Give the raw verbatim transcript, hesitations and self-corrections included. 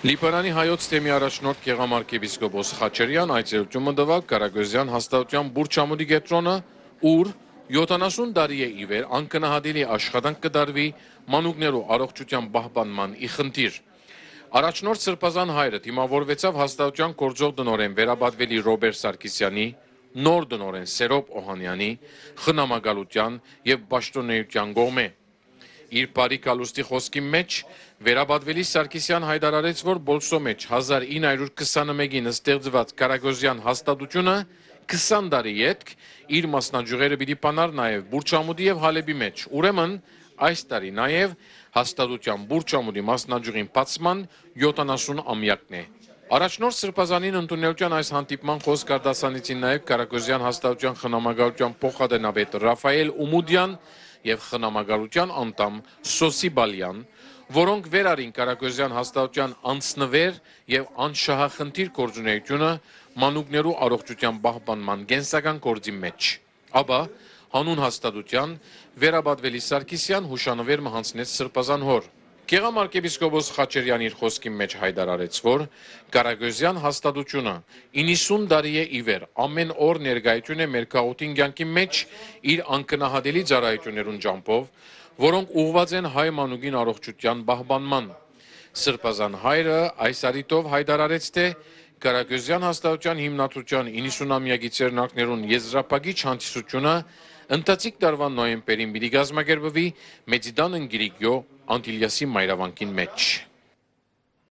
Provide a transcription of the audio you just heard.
Լիբանանի հայոց թեմի առաջնորդ գեղամ արքեպիսկոպոս Խաչերեան այցելութիւն մը տուաւ Կարագոզեան հաստատութեան Բուրչամուտի կեդրոնը, ուր յոթանասուն տարի է ի վեր անգնահատելի աշխատանք կը տարուի մանուկներու առողջութեան պահպանման ի խնդիր։ Առաջնորդ Սրբազան հայրը դիմաւորուեցաւ հաստատութեան գործող տնօրէն վերապատուելի Ռոբեր Սարգսեանի, նոր տնօրէն Սերոբ Օհանեանի, խնամակալութեան եւ պաշտօնէութեան կողմէ։ Իր բարի գալուստի խօսքին մէջ, վերապատուելի Սարգսեան յայտարարեց, որ Պոլսոյ մէջ հազար ինը հարիւր քսանմէկին ստեղծուած Կարագոզեան հաստատութիւնը քսան տարի ետք իր մասնաճիւղերը պիտի բանար նաեւ Բուրչամուտի եւ Հալէպի մէջ։ Ուրեմն, այս տարի նաեւ հաստատութեան Բուրչամուտի մասնաճիւղին բացման յոթանասուն ամեակն է։ Առաջնորդ Սրբազանին ընդունելութեան այս հանդիպման խօսք արտասանեցին նաեւ Կարագոզեան հաստատութեան խնամակալութեան փոխատենապետ Ռաֆայել Ումուդեան եւ խնամակալութեան անդամ Սոսի Բալեան, որոնք վեր առին Կարագոզեան հաստատութեան անձնուեր եւ անշահախնդիր գործունէութիւնը մանուկներու առողջութեան պահպանման կենսական գործին մէջ։ Ապա, յանուն հաստատութեան, վերապատուելի Սարգսեան յուշանուեր մը յանձնեց Սրբազան հօր։ Գեղամ արքեպիսկոպոս Խաչերեան իր խօսքին մէջ յայտարարեց, որ Կարագոզեան հաստատութիւնը իննսուն տարի է ի վեր ամէն օր ներկայութիւն է մեր գաղութին կեանքին մէջ իր անգնահատելի ծառայութիւններուն ճամբով, որոնք ուղղուած են հայ մանուկին առողջութեան պահպանման։ Սրբազան հայրը այս առիթով յայտարարեց, թէ Կարագոզեան հաստատութեան հիմնադրութեան իննսուն ամեակի ձեռնարկներուն եզրափակիչ հանդիսութիւնը ընթացիկ տարուան նոյեմբերին պիտի կազմակերպուի Մեծիտան ընկիրիկիո Անտիլիասի մայրավանքին մէջ։